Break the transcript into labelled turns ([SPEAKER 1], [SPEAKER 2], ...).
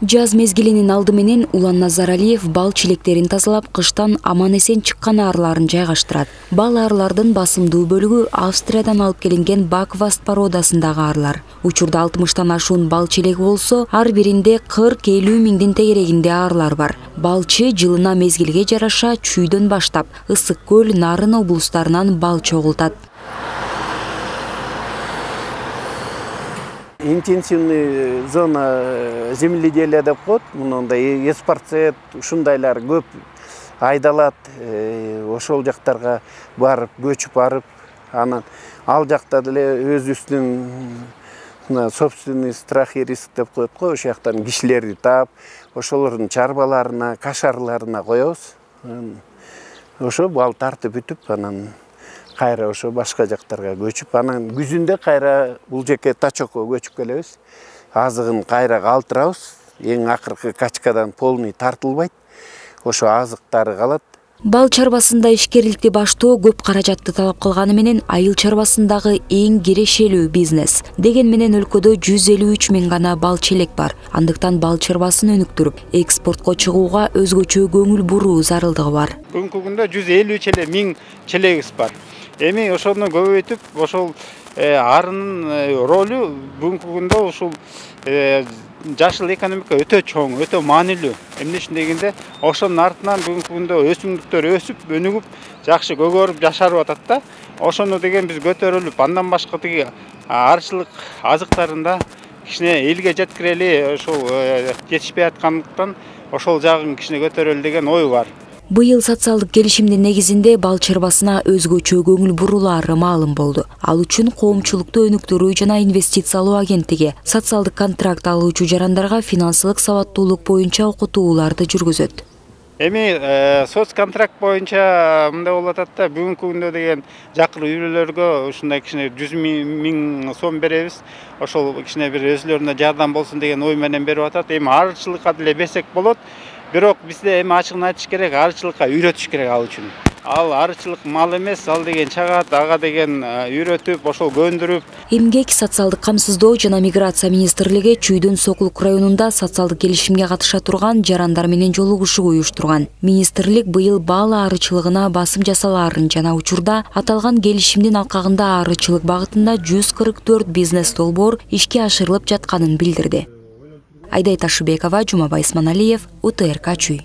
[SPEAKER 1] Жаз мезгилинин алды менен Улан Назаралиев бал чилектерин тазалап, кыштан аман-эсен чыккан арларын жайгаштырат. Бал арлардын басымдуу бөлүгү Австриядан алып келинген Бакваст породасындагы арлар. Учурда 60тан ашуун бал чилеги болсо, ар биринде 40-50 миңдин тегерегинде арлар бар. Балчы жылына мезгилге жараша Чүйдөн баштап Ысык көл, Нарын облустарынан бал чогултат.
[SPEAKER 2] Интенсивный зона земледелия деп коет. Мындай эспарцет ушундайлар көп айдалат. Ошол жактарга барып, көчүп барып, анан ал жакта деле өзүбүздүн собственный страх и риск деп коет го. Ошол жактан кишилерди таап, ошолордун чарбаларына, кашарларына коебуз. Ошо бал тартып бүтүп, анан кайра ошо башка жактарга көчүп, анан күзүндө кайра бул жеке Тачокко көчүп келебиз. Азыгын кайра калтырабыз. Эң акыркы качкадан полный тартылбайт. Ошо азыктары калат.
[SPEAKER 1] Бал чарбасында ишкерликти баштоо көп каражатты талап кылганы менен айыл чарбасындагы эң кирешелүү бизнес. Деген менен өлкөдө 153 миң гана бал челек бар. Андыктан бал чарбасын өнүктүрүп, экспортко чыгууга өзгөчө көңүл буруу зарылдыгы бар.
[SPEAKER 3] Бүгүнкү күндө 150 миң челегибиз бар. Эми ошону көбөйтүп, ошол арынын ролу бүгүнкү күндө ушул жашыл экономика өтө чоң, өтө маанилүү. Эмне үчүн дегенде, ошонун артынан бүгүнкү күндө өсүмдүктөр өсүп, өнүгүп, жакшы көгөрүп жашарып атат да. Ошону деген биз көтөрүлүп, андан башка тиги арчылык азыктарында кичине элге жеткирели, ошол жетишпей аткандыктан ошол жагын кичине көтөрөлү деген ой бар.
[SPEAKER 1] Быйыл социалдык келишимдин негизинде бал чарбасына өзгөчө көңүл бурулаары маалым болду. Ал үчүн коомчулукту өнүктүрүү жана инвестициялоо агенттиги социалдык контракт алуучу жарандарга финансылык сабаттуулук боюнча окутууларды жүргүзөт.
[SPEAKER 3] Эми соцконтракт боюнча мындай болуп атат да, бүгүнкү күндө деген жакыр үйлөргө ушундай кичине 100 миң сом беребиз. Ошол кичине бир өзүлөрүнө жардам болсун деген ой менен берип атат. Эми арчылыкка деле берсек болот. Бирок бизде эми ачыгын айтыш керек, арчылыкка үйрөтүш керек ал үчүн. Ал арчылык мал эмес, ал деген чагат, ага деген үйрөтүп, ошол көндүрүп.
[SPEAKER 1] Эмгек, социалдык камсыздоо жана миграция министрлиги Чүйдөн Сокулук районунда социалдык келишимге катыша турган жарандар менен жолугушуу уюштурган. Министрлик быйыл бал арычылыгына басым жасалаарын жана учурда аталган келишимдин алкагында арычылык багытында 144 бизнес долбоор ишке ашырылып жатканын билдирди. Айдай Ташыбекова, Жумабай Исманалиев, УТРК Чүй.